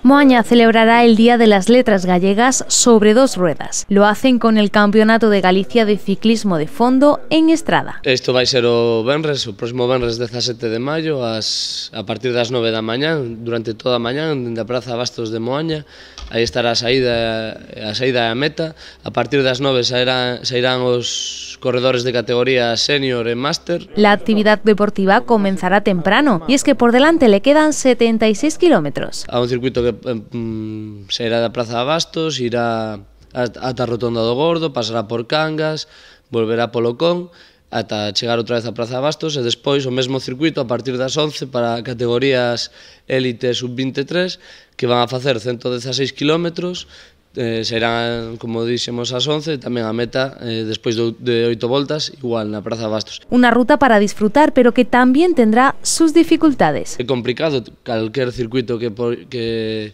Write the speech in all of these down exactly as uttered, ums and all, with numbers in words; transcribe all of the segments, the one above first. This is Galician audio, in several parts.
Moaña celebrará el Día de las Letras Gallegas sobre dos ruedas. Lo hacen con el Campeonato de Galicia de Ciclismo de Fondo en Estrada. Isto vai ser o venres, o próximo venres dezasete de maio, as, a partir das nove da mañá, durante toda a mañá, dende a Praza Bastos de Moaña. Aí estará a saída, a saída e a meta. A partir das nove sairán, sairán os corredores de categoría senior e máster. La actividad deportiva comenzará temprano y es que por delante le quedan setenta y seis kilómetros. A un circuito que mm, sairá da Praza Bastos, irá ata a Rotonda do Gordo, pasará por Cangas, volverá polo Con, ata chegar outra vez a Praza Bastos e despois o mesmo circuito a partir das once para categorías élite sub veintitrés que van a facer ciento dieciséis kilómetros, eh, serán, como dixemos, as once, tamén a meta eh, despois de oito voltas, igual na Praza Bastos. Una ruta para disfrutar, pero que también tendrá sus dificultades. É complicado, calquer circuito que, que,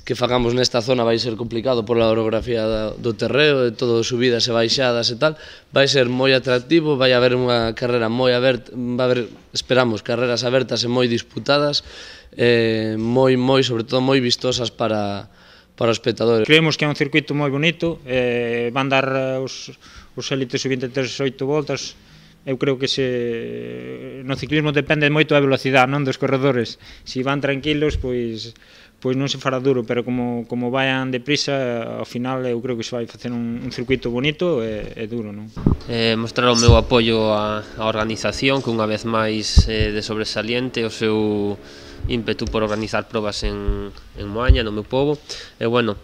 que fagamos nesta zona vai ser complicado pola orografía do terreo, de todo subidas e baixadas e tal, vai ser moi atractivo, vai haber unha carrera moi aberta, vai haber, esperamos, carreras abertas e moi disputadas, eh, moi, moi, sobre todo moi vistosas para, para os espectadores. Creemos que é un circuito moi bonito, eh, van dar os, os élites sub veintitrés oito voltas. Eu creo que se no ciclismo depende moito da velocidade, non dos corredores. Se van tranquilos, pois pois non se fará duro, pero como como vayan deprisa, ao final eu creo que se vai facer un, un circuito bonito e, e duro, non? Eh, mostrar o meu apoio á, á organización, que unha vez máis eh, de sobresaliente o seu ímpetu por organizar probas en, en Moaña, no meu pobo, e bueno,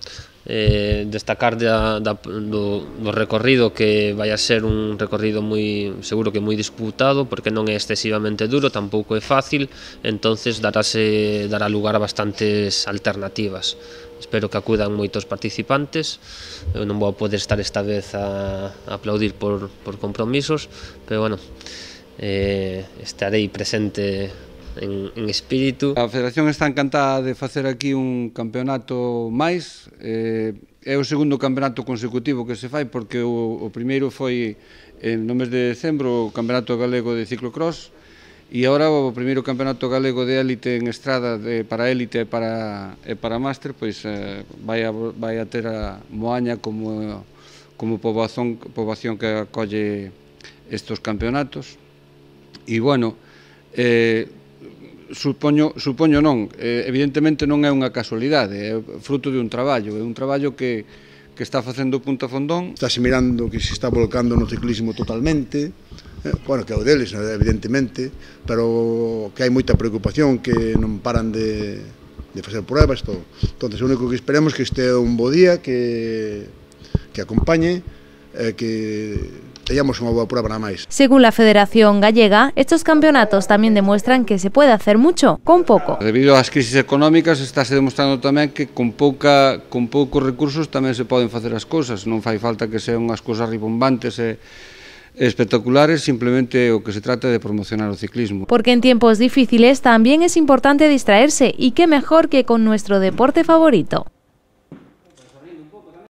eh, destacar da, da, do, do recorrido, que vai a ser un recorrido moi, seguro que moi disputado, porque non é excesivamente duro, tampouco é fácil, entonces darase, dará lugar a bastantes alternativas. Espero que acudan moitos participantes. Eu non vou poder estar esta vez a, a aplaudir por, por compromisos, pero bueno, eh, estarei presente En, en espírito. A Federación está encantada de facer aquí un campeonato máis. Eh, é o segundo campeonato consecutivo que se fai, porque o, o primeiro foi eh, no mes de decembro o Campeonato Galego de Ciclocross, e agora o primeiro Campeonato Galego de élite en estrada, de, para élite e para, e para máster, pois eh, vai, a, vai a ter a Moaña como, como poboación, poboación que acolle estos campeonatos. E bueno, eh, Supoño, supoño non, eh, evidentemente non é unha casualidade, é fruto de un traballo, é un traballo que, que está facendo Punta Fondón. Estáse mirando que se está volcando no ciclismo totalmente, eh, bueno, que é o deles, evidentemente, pero que hai moita preocupación, que non paran de, de facer pruebas, todo. Entón, o único que esperemos que este é un bo día, que, que acompañe, eh, que teníamos unha boa prueba nada máis. Según la Federación Gallega, estos campeonatos también demuestran que se puede hacer mucho con poco. Debido ás crisis económicas estáse demostrando tamén que con pouca con poucos recursos tamén se poden facer as cousas, non fai falta que sean unhas cousas ribombantes e espectaculares, simplemente o que se trata de promocionar o ciclismo. Porque en tiempos difíciles también es importante distraerse, y qué mejor que con nuestro deporte favorito.